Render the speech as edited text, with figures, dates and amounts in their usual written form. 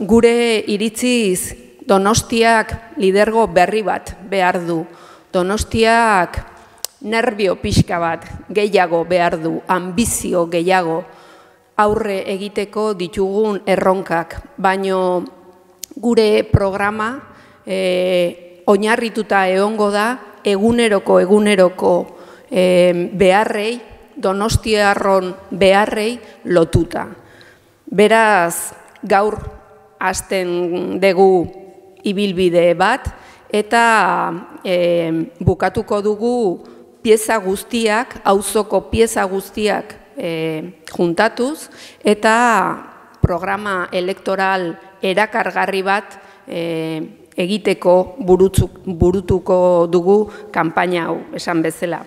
gure iritziz Donostiak lidergo berri bat behar du. Donostiak nervio pixka bat gehiago behar du, ambizio gehiago aurre egiteko ditugun erronkak. Baino gure programa oinarrituta egongo da eguneroko beharrei, donostiarron beharrei lotuta. Beraz, gaur hasten dugu ibilbide bat, eta bukatuko dugu pieza guztiak, auzoko pieza guztiak juntatuz, eta programa elektoral erakargarri bat egiteko burutuko dugu kanpaina hau, esan bezala.